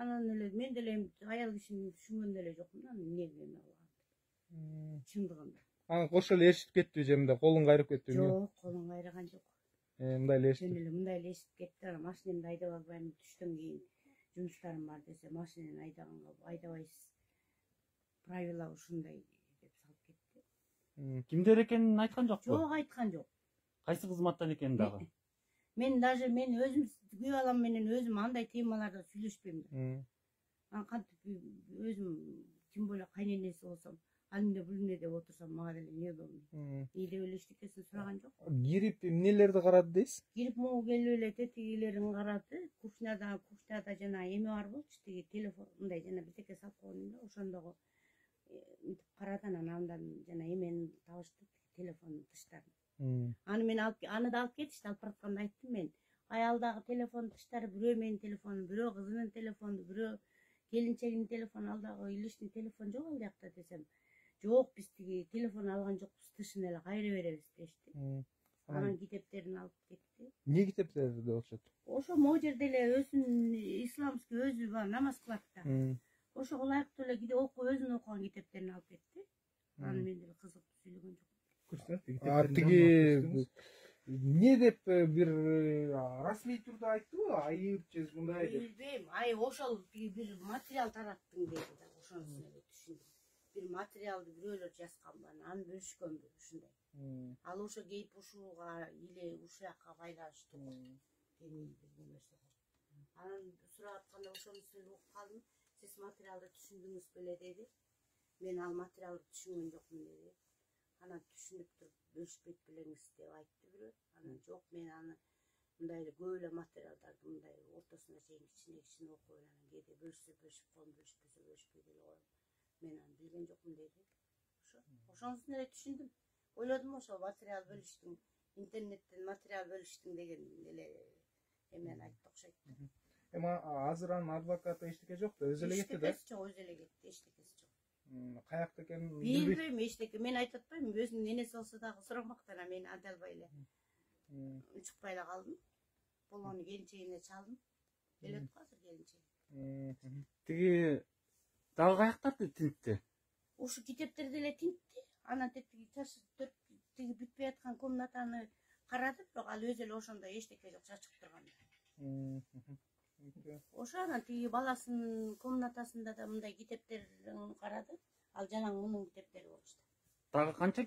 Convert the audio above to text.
Анан эле мен деле аял кишини түшүнгөн деле жокмун анан эмне кылган. Чындыгында. Анан кошо эле эшитип кеттиби же мындай колун кайрып кеттиби? Жок, колун кайраган жок. Мындай эле эшитип. Жөн эле мындай эле эшитип кетти. Анан машинемди айдап албайм, түштөн кийин жумуштарым бар десе, машинени айдаганга айдабайсыз. Правила ушундай деп салып кетти. Кимдер экенин айткан жокпу? Жок, айткан жок. Кайсы кызматтан экенин дагы? Мен даже мен өзүм күйөө балам менен өзүм андай темаларда сүйлөшпөйм да. Анан кантип өзүм тем более кайненеси болсом, ал эмне бул эмне деп отурсам, мага деле неудобно. И деп эле эчтекесин сураган жок. Кирип эмнелерди карады дейсиз? Кирип могу келип эле тетигилерин карады. Кухняда жана эме бар болчу, тиги телефон мындай жана бирдеке салып койгон да, ошондогу мынтип карады. Андан жана эмени табышты, телефондун тыштарын. Аны да алып кетишти. Алып баратканда айттым мен. Аялдагы телефон тыштары бирөө менин телефонум, бирөө кызынын телефону, бирөө келинчегинин телефону, ал дагы лишний телефон жок ал жакта десем. Жок, биз тиги телефон алган жокпуз, тышын эле кайра беребиз дешти. Анан китептерин алып кетти. Эмне китептер деп окшойт? Ошо могу жерде эле өзүнүн исламский өзү бар, намаз кылат да. Ошого ылайыктуу эле окуп өзүнүн окуган китептерин алып кетти. Анан мен деле кызыктуу сүйлөгөн жокмун. Тиги эмне деп бир расмий турда айттыбы? Айып же мындай деп? Билбейм. Ай, ошол бир материал тараттың деди да. Ошонусун эле түшүндүм. Бир материалды бирөөлөр жазганбы, аны бөлүшкөнбү ушундай. Ал ошо кейип ушуга или ушуяка байланыштуу дений бир нерсе. Анан сурап атканда ошонусун эле угуп калдым. Сиз материалды түшүндүңүз беле деди. Мен ал материалды түшүнгөн жокмун деди. Анан түшүнүп туруп бөлүшпөйт белеңиз деп айтты бирөө. Анан жок, мен аны мындай эле көп эле материалдарды мындай ортосуна чейин кичине окуп эле анан кээде бөлүшсө бөлүшүп коем, бөлүшпөсө бөлүшпөй деле коем. Мен аны билген жокмун деди. Ошонусун эле түшүндүм. Ойлодум ошо материал бөлүштүң, интернеттен материал бөлүштүң деген эле эмени айтты окшойт. Эми азыр анын адвокаты эчтеке жок да, өзү эле кетти да? Эчтекеси жок, өзү эле кетти, эчтекеси жок. Каякта экенин билбейм, эчтеке. Мен айтып атпаймынбы, өзүнүн энеси болсо дагы сурамак да, мен ада албай эле унчукпай эле калдым. Болгону келинчегине чалдым. Келет го азыр келинчеги. Тиги дагы каяктарды тинтти? Ушу китептерди эле тинтти. Анан тиги тиги бүтпөй аткан комнатаны карады, бирок ал өзү эле ошондой эчтеке жок, чачык турган. Ошо анан тиги баласынын комнатасында да мындай китептерин карады. Ал жалаң мунун китептери болчу. Дагы канча